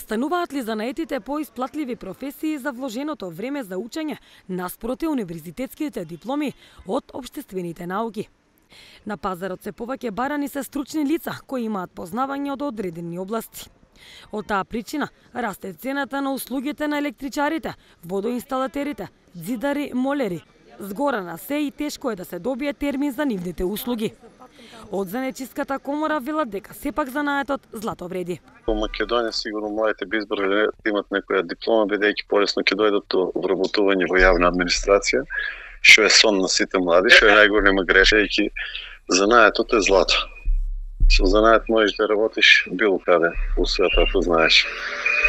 Остануваат ли занаетите поисплатливи професии за вложеното време за учење наспроти универзитетските дипломи од општествените науки? На пазарот се повеќе барани се стручни лица кои имаат познавање од одредени области. Од таа причина расте цената на услугите на електричарите, водоинсталатерите, ѕидари, молери. Згора на се и тешко е да се добие термин за нивните услуги. Од Занечиската комора велат дека сепак занаетот злато вреди. Во Македонија сигурно младите би избрале да имат некоја диплома, бидејќи полесно ќе дојдат до вработување во јавна администрација, што е сон на сите млади, што е најголема грешка, бидејќи занаетот е злато. Со занает можеш да работиш било каде во светот, ако знаеш.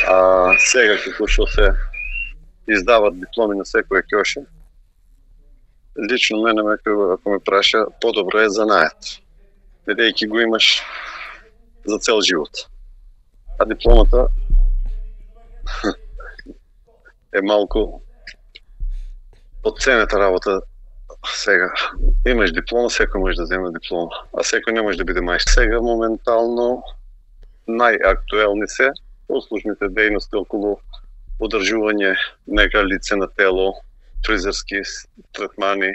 А сега како што се издават дипломи на секој ќоше, лично мене ако ме праша, подобро е занает, бидејќи го имаш за цел живот. А дипломата е малку подценета работа. Сега имаш диплома, секој може да земе диплома, а секој не може да биде мајстор. Сега моментално најактуелни се услужните дејности околу одржување нека лице на тело, фризерски третмани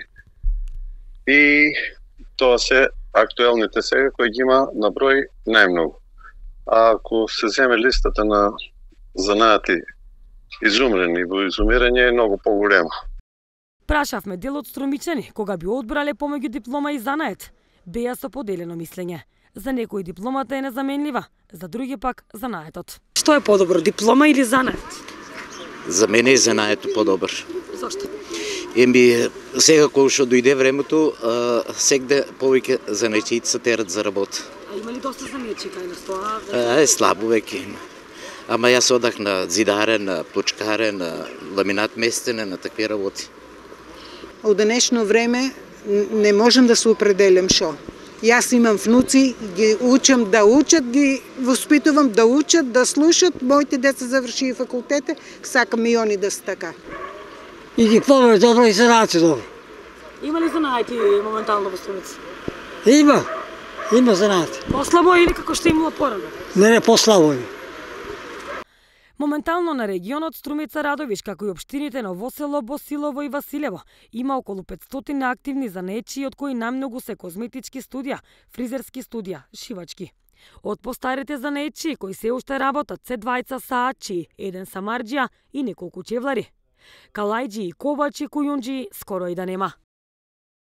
и тоа се актуелните сега кои ги има на број најмногу. А ако се земе листата на занаати изумрени во изумирање е многу поголема. Прашавме дел од струмичани кога би одбрале помеѓу диплома и занает. Беа со поделено мислење. За некои дипломата е незаменлива, за други пак занаетот. Што е подобро, диплома или занает? За мене е занаето подобар. Зошто? Сега кога што дојде времето, сегде повеќе занаетчици се терат за работа. А има ли доста занаетчи кај нас тоа? Слабо веќе има. Ама јас одах на ѕидаре, на плочкаре, на ламинат местене, на такви работи. Од денешно време не можам да се определям шо. Јас имам внуци, ги учам да учат, ги воспитувам да учат, да слушат. Моите деца завршија факултете, сакам и они да се така. И диплома е добро и занаати добро. Има ли занаати моментално во Струмица? Има занаати. Послабо или како што имало порано? Не, послабо е. Моментално на регионот Струмица Радовиш, како и општините Новосело, Босилово и Василево, има околу 500 активни занаетчи, од кои најмногу се козметички студија, фризерски студија, шивачки. Од постарите занаетчи кои се уште работат се двајца саачи, еден самарџија и неколку чевлари. Калајџи и ковачи, кујунџи скоро и да нема.